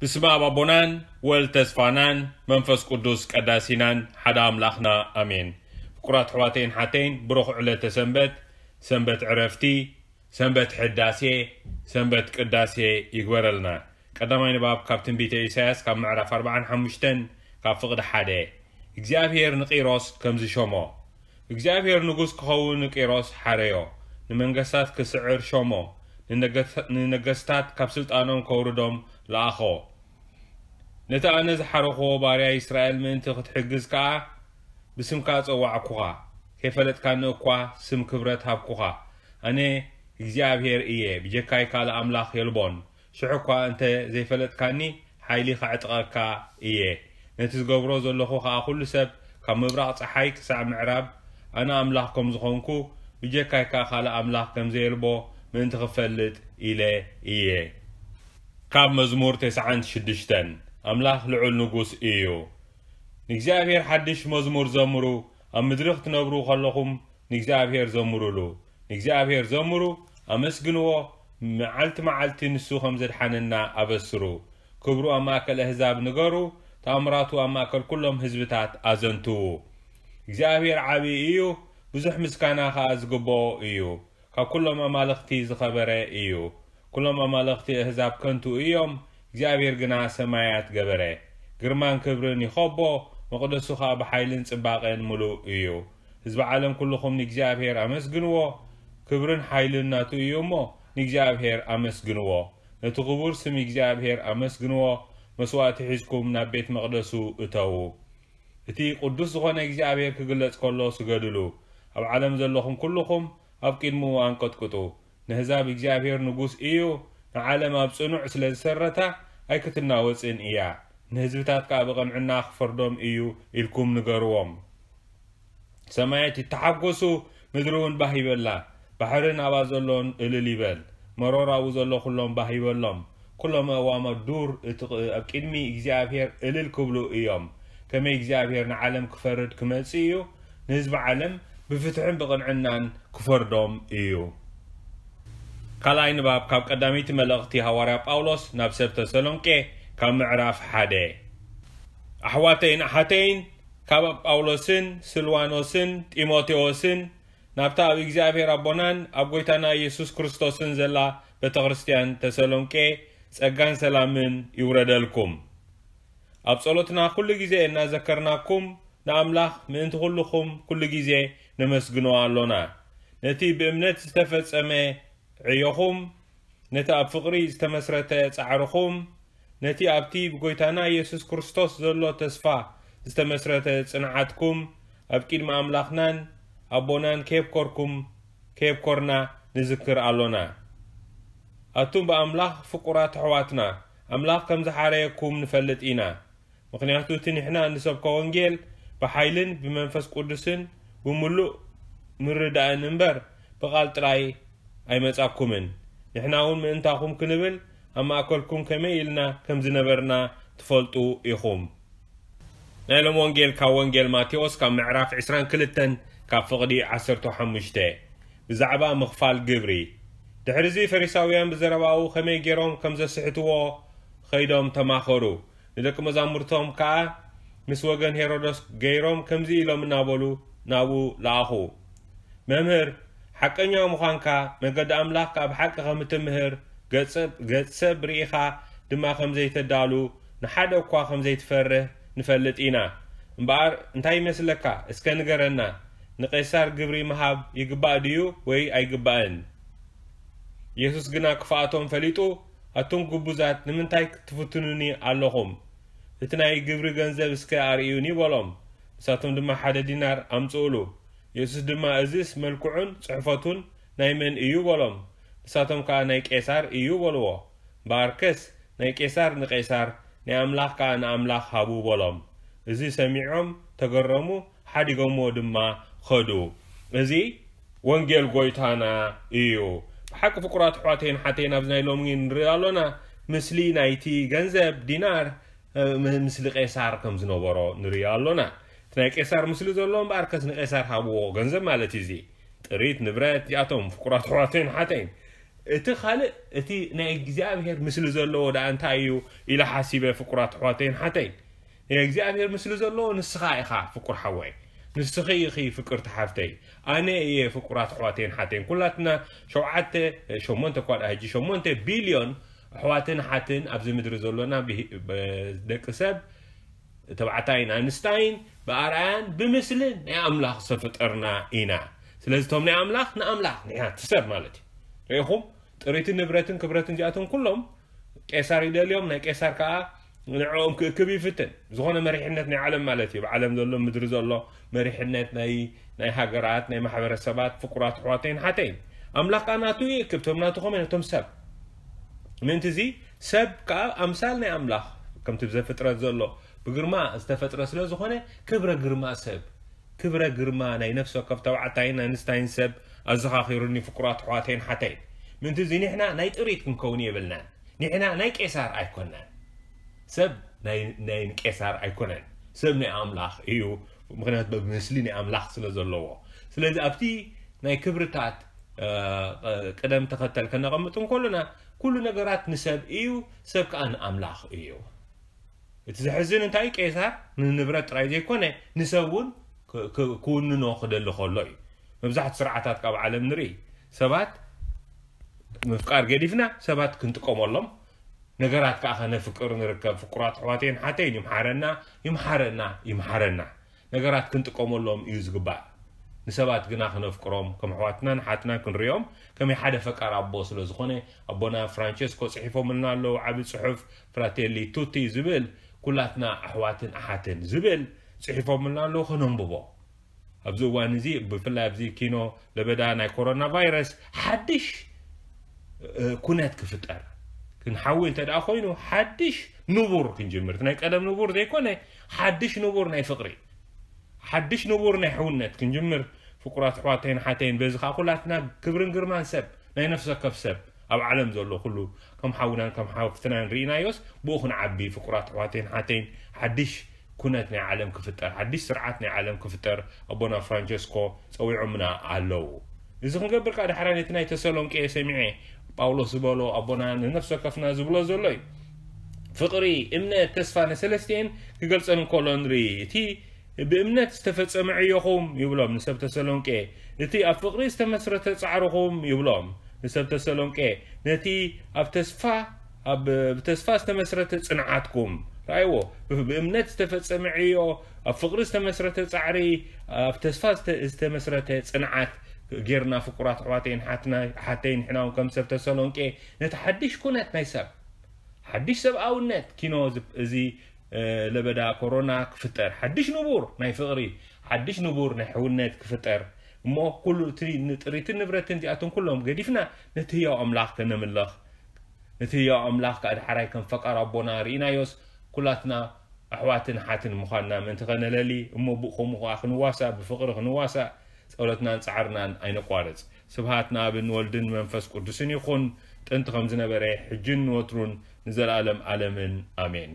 ብስመ ኣብ ኣቦናን ወልድ ተስፋናን መንፈስ ቅዱስ ቀዳሲናን ሓደ ኣምላኽና ኣሜን። ፍቁራት ኣሕዋተይን ሓተይን፣ ብሩኽ ዕለተ ሰንበት፣ ሰንበት ዕረፍቲ፣ ሰንበት ሕዳሴ፣ ሰንበት ቅዳሴ ይግበረልና። ቀዳማይ ንባብ ካብ ትንቢተ ኢሳያስ ካብ ምዕራፍ ኣርባዓን ሓሙሽተን ካብ ፍቕዲ ሓደ። እግዚኣብሔር ንቂሮስ ከምዚ ሾሞ። እግዚኣብሔር ንጉስ ክኸውን ንቂሮስ ሓረዮ፣ ንመንገስታት ክስዕር ሾሞ፣ ንነገስ-፣ ንነገስታት ካብ ስልጣኖም ከውርዶም ለኣኾ። ነቲ ኣነ ዝሓረኽዎ ባርያ እስራኤል ምእንቲ ክትሕግዝ ከኣ ብስምካ ጸዋዕኩኻ። ከይፈለጥካኒ እኳ ስም ክብረት ሃብኩኻ። ኣነ እግዚኣብሔር እየ፣ ብጀካይ ካልእ ኣምላኽ የልቦን። ሽሕ እኳ እንተ ዘይፈለጥካኒ፣ ሓይሊ ኸዕጥቐካ እየ። ነቲ ዝገብሮ ዘለኹ ኸኣ ኹሉ ሰብ፣ ካብ ምብራቕ ጸሓይ ክሳዕ ምዕራብ፣ ኣነ ኣምላኽ ከም ዝኾንኩ፣ ብጀካይ ከኣ ካልእ ኣምላኽ ከም ዘየልቦ ምእንቲ ኽፈልጥ ኢለ እየ። ካብ መዝሙር ተስዓን ሽዱሽተን። ኣምላኽ ልዑል ንጉስ እዩ። ንእግዚኣብሔር ሓድሽ መዝሙር ዘምሩ፣ ኣብ ምድሪ ክትነብሩ ኸለኹም ንእግዚኣብሔር ዘምሩሉ። ንእግዚኣብሔር ዘምሩ፣ ኣመስግንዎ፣ መዓልቲ መዓልቲ ንሱ ኸም ዘድሓነና ኣበስሩ። ክብሩ ኣብ ማእከል ኣህዛብ ንገሩ፣ ተኣምራቱ ኣብ ማእከል ኩሎም ህዝብታት ኣዘንትዉ። እግዚኣብሔር ዓቢ እዩ፣ ብዙሕ ምስጋና ኸኣ ዝግብኦ እዩ። ካብ ኩሎም ኣማልኽቲ ዝኸበረ እዩ። ኩሎም ኣማልኽቲ ኣህዛብ ከንቱ እዮም፣ እግዚኣብሔር ግና ሰማያት ገበረ። ግርማን ክብርን ይኸቦ፣ መቕደሱ ኸኣ ብሓይልን ጽባቐን ምሉእ እዩ። ህዝቢ ዓለም ኩልኹም ንእግዚኣብሔር ኣመስግንዎ፣ ክብርን ሓይልን ናቱ እዩ እሞ፣ ንእግዚኣብሔር ኣመስግንዎ። ነቲ ክቡር ስም እግዚኣብሔር ኣመስግንዎ፣ መስዋእቲ ሒዝኩም ናብ ቤት መቕደሱ እተዉ። እቲ ቅዱስ ዝኾነ እግዚኣብሔር ክግለጽ ከሎ ስገድሉ። ኣብ ዓለም ዘለኹም ኩልኹም ኣብ ቅድሚኡ ኣንቀጥቅጡ። ነህዛብ እግዚኣብሔር ንጉስ እዩ፣ ንዓለም ኣብ ጽኑዕ ስለ ዝሰረታ ኣይክትናወጽን እያ። ንህዝብታት ከኣ ብቕንዕና ክፈርዶም እዩ ኢልኩም ንገርዎም። ሰማያት ይተሓጎሱ፣ ምድሪ እውን ባህ ይበላ። ባሕርን ኣብኣ ዘሎን እልል ይበል። መሮር ኣብኡ ዘሎ ኩሎም ባህ ይበሎም። ኩሎም ኣእዋም ኣብ ዱር እቲ ቕ-፣ ኣብ ቅድሚ እግዚኣብሔር እልል ክብሉ እዮም። ከመይ እግዚኣብሔር ንዓለም ክፈርድ ክመጽእ እዩ፣ ንህዝቢ ዓለም ብፍትሕን ብቕንዕናን ክፈርዶም እዩ። ካልኣይ ንባብ ካብ ቀዳመይቲ መልእኽቲ ሃዋርያ ጳውሎስ ናብ ሰብ ተሰሎንቄ ካብ ምዕራፍ ሓደ። ኣሕዋተይን ኣሓተይን፣ ካብ ጳውሎስን ስልዋኖስን ጢሞቴዎስን ናብታ ኣብ እግዚኣብሔር ኣቦናን ኣብ ጐይታና ኢየሱስ ክርስቶስን ዘላ ቤተ ክርስትያን ተሰሎንቄ ጸጋን ሰላምን ይውረደልኩም። ኣብ ጸሎትና ኩሉ ግዜ እናዘከርናኩም ንኣምላኽ ምእንቲ ኩልኹም ኩሉ ግዜ ነመስግኖ ኣሎና። ነቲ ብእምነት ዝተፈጸመ ዕዮኹም፣ ነቲ ኣብ ፍቕሪ ዝተመስረተ ጻዕርኹም፣ ነቲ ኣብቲ ብጐይታና ኢየሱስ ክርስቶስ ዘሎ ተስፋ ዝተመስረተ ጽንዓትኩም ኣብ ቅድሚ ኣምላኽናን ኣቦናን ከየብኮርኩም፣ ከየብኮርና ንዝክር ኣሎና። ኣቱም ብኣምላኽ ፍቁራት ኣሕዋትና፣ ኣምላኽ ከም ዝሓረየኩም ንፈልጥ ኢና። ምኽንያቱ እቲ ንሕና እንሰብኮ ወንጌል ብሓይልን ብመንፈስ ቅዱስን ብምሉእ ምርዳእን እምበር ብቓል ጥራይ ኣይመጻኩምን። ንሕና እውን ምእንታኹም ክንብል ኣብ ማእከልኩም ከመይ ኢልና ከም ዝነበርና ትፈልጡ ኢኹም። ናይ ሎም ወንጌል ካብ ወንጌል ማቴዎስ ካብ ምዕራፍ ዕስራን ክልተን ካብ ፍቕዲ ዓሰርተ ሓሙሽተ። ብዛዕባ ምኽፋል ግብሪ። ድሕሪ እዚ ፈሪሳውያን ብዘረባኡ ከመይ ገይሮም ከም ዘስሕትዎ ኸይዶም ተማኸሩ። ንደቂ መዛሙርቶም ከኣ ምስ ወገን ሄሮዶስ ገይሮም ከምዚ ኢሎም እናበሉ ናብኡ ለኣኹ። መምህር፣ ሓቀኛ ምዃንካ፣ መገዲ ኣምላኽ ከኣ ብሓቂ ከም እትምህር፣ ገጽ ሰብ፣ ገጽ ሰብ ርኢኻ ድማ ከም ዘይተዳሉ፣ ንሓደ እኳ ከም ዘይትፈርህ ንፈልጥ ኢና። እምበኣር እንታይ ይመስለካ? እስከ ንገረና። ንቄሳር ግብሪ ምሃብ ይግባእ ድዩ ወይ ኣይግባእን? የሱስ ግና ክፍኣቶም ፈሊጡ፣ ኣቱም ግቡዛት፣ ንምንታይ ትፍትኑኒ ኣለኹም? እቲ ናይ ግብሪ ገንዘብ እስከ ኣርእዩኒ በሎም። ንሳቶም ድማ ሓደ ዲናር ኣምጽኡሉ። የሱስ ድማ፣ እዝስ መልክዑን ጽሕፈቱን ናይ መን እዩ በሎም። ንሳቶም ከኣ፣ ናይ ቄሳር እዩ በልዎ። እምበኣርከስ ናይ ቄሳር ንቄሳር፣ ናይ ኣምላኽ ከኣ ንኣምላኽ ሃቡ በሎም። እዚ ሰሚዖም ተገረሙ፣ ሓዲጎምዎ ድማ ኸዱ። እዚ ወንጌል ጐይታና እዩ። ብሓቂ ፍቁራት ኣሕዋተይን ሓተይን፣ ኣብዚ ናይ ሎሚ ንርኢ ኣሎና፣ ምስሊ ናይቲ ገንዘብ ዲናር፣ እ፣ ም-፣ ምስሊ ቄሳር ከም ዝነበሮ ንርኢ ኣሎና። እቲ ናይ ቄሳር ምስሊ ዘሎ እምበኣርከስ ንቄሳር ሃብዎ ገንዘብ ማለት እዩ። እዚ ጥሪት ንብረት እዚኣቶም ፍቁራት ኣሕዋተይን ሓተይን እቲ ካልእ፣ እቲ ናይ እግዚኣብሔር ምስሊ ዘለዎ ደኣ እንታይ እዩ ኢለ ሓሲበ፣ ፍቁራት ኣሕዋተይን ሓተይን። ናይ እግዚኣብሔር ምስሊ ዘለዎ ንስኻ ኢኻ፣ ፍቁር ሓወይ። ንስኺ ኢኺ፣ ፍቅርቲ ሓፍተይ። ኣነ እየ፣ ፍቁራት ኣሕዋተይን ሓተይን። ኩላትና ሸውዓተ፣ ሸሞንተ እኳ ደኣ ሕጂ፣ ሸሞንተ ቢልዮን ኣሕዋትን ሓትን ኣብዚ ምድሪ ዘሎና ብሂ-፣ ብ-፣ ደቂ ሰብ፣ ተባዕታይን ኣንስታይን፣ ብኣርኣያን ብምስልን ናይ ኣምላኽ ዝተፈጠርና ኢና። ስለዚ እቶም ናይ ኣምላኽ ንኣምላኽ፣ ንሕና እቲ ሰብ ማለት እዩ። ርኢኹም? ጥሪትን ንብረትን ክብረትን እዚኣቶም ኩሎም ቄሳር ይደልዮም፣ ናይ ቄሳር ከኣ ንዕኦም ክእክብ ይፍትን። ዝኾነ መሪሕነት ናይ ዓለም ማለት እዩ፣ ኣብ ዓለም ዘሎ፣ ምድሪ ዘሎ መሪሕነት ናይ፣ ናይ ሃገራት፣ ናይ ማሕበረሰባት፣ ፍቁራት ኣሕዋተይን ሓተይን። ኣምላኽ ከኣ ናቱ ይእክብ፣ እቶም ናቱ ከመይ፣ ነቶም ሰብ። ምእንቲ እዚ ሰብ ከኣ ኣምሳል ናይ ኣምላኽ፣ ከምቲ ብዘፍጥረት ዘሎ ብግርማ ዝተፈጥረ ስለ ዝኾነ፣ ክብረ ግርማ ሰብ፣ ክብረ ግርማ ናይ ነፍሲ ወከፍ ተባዕታይን ኣንስታይን ሰብ ኣዘኻኺሩኒ፣ ፍቁራት ኣሕዋተይን ሓተይን። ምእንቲ እዚ ንሕና ናይ ጥሪት ክንከውን የብልናን። ንሕና ናይ ቄሳር ኣይኮናን። ሰብ ናይ፣ ናይ ቄሳር ኣይኮነን። ሰብ ናይ ኣምላኽ እዩ። ምኽንያቱ ብምስሊ ናይ ኣምላኽ ስለ ዘለዎ። ስለዚ ኣብቲ ናይ ክብርታት፣ እ፣ ቅደም ተኸተል ከነቐምጥ እንከሎና፣ ኩሉ ነገራት ንሰብ እዩ፣ ሰብ ከኣ ንኣምላኽ እዩ። እቲ ዘሕዝን እንታይ፣ ቄሳር ንንብረት ጥራይ ዘይኮነ፣ ንሰብ እውን ክ-፣ ክ-፣ ክውንኖ ክደሊ ከሎ እዩ። መብዛሕትኡ ስርዓታት ካብ ዓለም ንርኢ፣ ሰባት ምፍቃር ገዲፍና፣ ሰባት ክንጥቀመሎም፣ ነገራት ከኣ ከነፍቅር ንርከብ። ፍቁራት ኣሕዋተይን ሓተይን፣ ይምሓረና፣ ይምሓረና፣ ይምሓረና። ነገራት ክንጥቀመሎም እዩ ዝግባእ። ንሰባት ግና ክነፍቅሮም፣ ከም ኣሕዋትናን ሓትናን ክንሪኦም፣ ከመይ ሓደ ፈቃር ኣቦ ስለ ዝኾነ፣ ኣቦና ፍራንቸስኮ ጽሒፎምልና ኣለዉ፣ ዓቢ ጽሑፍ ፍራቴሊ ቱቲ ዝብል፣ ኩላትና ኣሕዋትን ኣሓትን ዝብል ጽሒፎምልና ኣለዉ፣ ከነንብቦ። ኣብዚ እዋን እዚ፣ ብፍላይ ኣብዚ ኪኖ ለበዳ ናይ ኮሮና ቫይረስ፣ ሓድሽ፣ እ፣ ኩነት ክፍጠር፣ ክንሓዊ እንተ ደኣ ኮይኑ፣ ሓድሽ ንቡር ክንጅምር፣ እቲ ናይ ቀደም ንቡር ዘይኮነ፣ ሓድሽ ንቡር ናይ ፍቕሪ፣ ሓድሽ ንቡር ናይ ሕውነት ክንጅምር፣ ፍቁራት ኣሕዋተይን ሓተይን፣ በዚ ኸኣ ኩላትና ክብርን ግርማን ሰብ፣ ናይ ነፍሲ ወከፍ ሰብ፣ ኣብ ዓለም ዘሎ ኩሉ ከም ሓውናን ከም ሓፍትናን ርኢናዮስ፣ ብኡ ክንዓቢ፣ ፍቁራት ኣሕዋተይን ሓተይን፣ ሓድሽ ኩነት ናይ ዓለም ክፍጠር፣ ሓድሽ ስርዓት ናይ ዓለም ክፍጠር ኣቦና ፍራንቸስኮ ጸዊዖምና ኣለዉ። እዚ ክንገብር ከኣ ዳሕራይ ነቲ ናይ ተሰሎንቄ ሰሚዐ፣ ጳውሎስ ዝበሎ ኣቦና ንነፍሲ ወከፍና ዝብሎ ዘሎ እዩ። ፍቕሪ፣ እምነት፣ ተስፋ፣ ንሰለስቲኤን ክገልጸን እንከሎ ንርኢ። እቲ ብእምነት ዝተፈጸመ ዕዮኹም ይብሎም ንሰብ ተሰሎንቄ፣ እቲ ኣብ ፍቕሪ ዝተመስረተ ጻዕርኹም ይብሎም ንሰብ ተሰሎንቄ፣ ነቲ ኣብ ተስፋ፣ ኣብ፣ ብተስፋ ዝተመስረተ ጽንዓትኩም። ረኣይዎ፣ ብ-፣ ብእምነት ዝተፈጸመ ዕዮ፣ ኣብ ፍቕሪ ዝተመስረተ ጻዕሪ፣ ኣብ ተስፋ ዝተ-፣ ዝተመስረተ ጽንዓት ጌርና፣ ፍቁራት ኣሕዋተይን ሓትና-፣ ሓተይን፣ ንሕና እውን ከም ሰብ ተሰሎንቄ፣ ነቲ ሓድሽ ኩነት ናይ ሰብ፣ ሓድሽ ሰብኣውነት ኪኖ ዝ-፣ እዚ፣ እ፣ ለበዳ ኮሮና ክፍጠር፣ ሓድሽ ንቡር ናይ ፍቕሪ፣ ሓድሽ ንቡር ናይ ሕውነት ክፍጠር፣ እሞ ኩሉ እቲ ንጥሪትን ንብረትን እዚኣቶም ኩሎም ገዲፍና ነቲ ህያው ኣምላኽ ከነምልኽ፣ ነቲ ህያው ኣምላኽ ከኣ ዳሕራይ ከም ፈቃር ኣቦና ርኢናዮስ፣ ኩላትና ኣሕዋትን ሓትን ምዃንና ምእንቲ ከነለሊ፣ እሞ ብኡ ከምኡ ከኣ ክንዋሳእ፣ ብፍቕሪ ክንዋሳእ፣ ጸሎትናን ጻዕርናን ኣይነቋርጽ። ስብሃት ንኣብን ወልድን መንፈስ ቅዱስን ይኹን፣ ጥንቲ ከም ዝነበረ፣ ሕጅን ንወትሩን ንዘለኣለም ኣለምን። ኣሜን።